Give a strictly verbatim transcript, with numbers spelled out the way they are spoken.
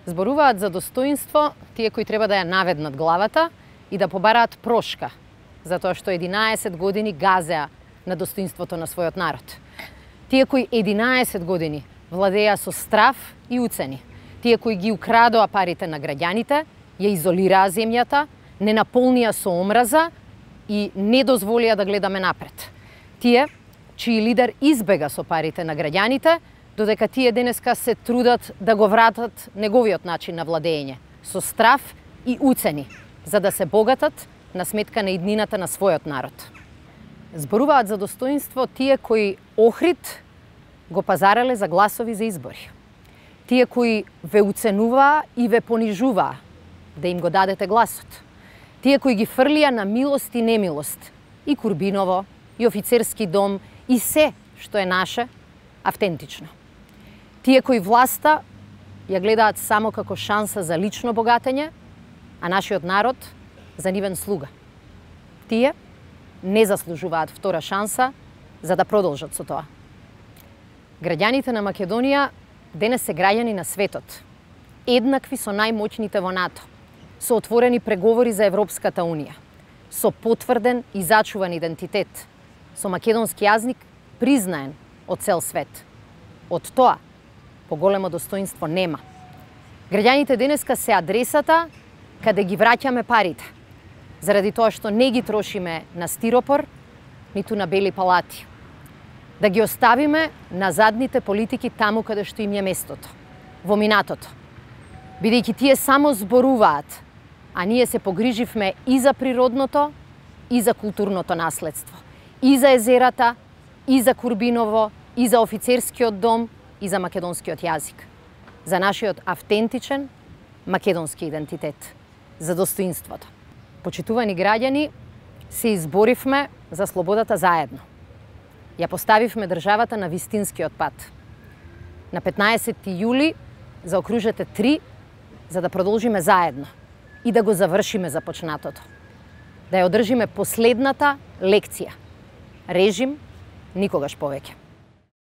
Зборуваат за достоинство тие кои треба да ја наведнат главата и да побараат прошка, затоа што единаесет години газеа на достоинството на својот народ. Тие кои единаесет години владеа со страф и уцени, тие кои ги украдоа парите на граѓаните, ја изолираа земјата, не наполнија со омраза и не дозволија да гледаме напред. Тие чиј лидер избега со парите на граѓаните, додека тие денеска се трудат да го вратат неговиот начин на владење, со страф и уцени, за да се богатат на сметка на иднината на својот народ. Зборуваат за достоинство тие кои Охрид го пазарале за гласови за избори. Тие кои ве уценуваа и ве понижуваа да им го дадете гласот. Тие кои ги фрлија на милост и немилост и Курбиново, и офицерски дом, и се што е наше, автентично. Тие кои власта ја гледаат само како шанса за лично богатење, а нашиот народ за нивен слуга. Тие не заслужуваат втора шанса за да продолжат со тоа. Граѓаните на Македонија денес се граѓани на светот, еднакви со најмоćните во НАТО, со отворени преговори за Европската Унија, со потврден и зачуван идентитет, со македонски јазик признаен од цел свет. Од тоа поголемо достоинство нема. Граѓаните денеска се адресата каде ги враќаме парите, заради тоа што не ги трошиме на стиропор, ниту на бели палати. Да ги оставиме на задните политики таму каде што им е местото, во минатото. Бидејќи тие само зборуваат, а ние се погриживме и за природното, и за културното наследство, и за езерата, и за Курбиново, и за офицерскиот дом, и за македонскиот јазик. За нашиот автентичен македонски идентитет, за достоинството. Почитувани граѓани, се изборивме за слободата заедно. Ја поставивме државата на вистинскиот пат. На петнаесети јули заокружете три за да продолжиме заедно и да го завршиме започнатото. Да ја одржиме последната лекција. Режим никогаш повеќе.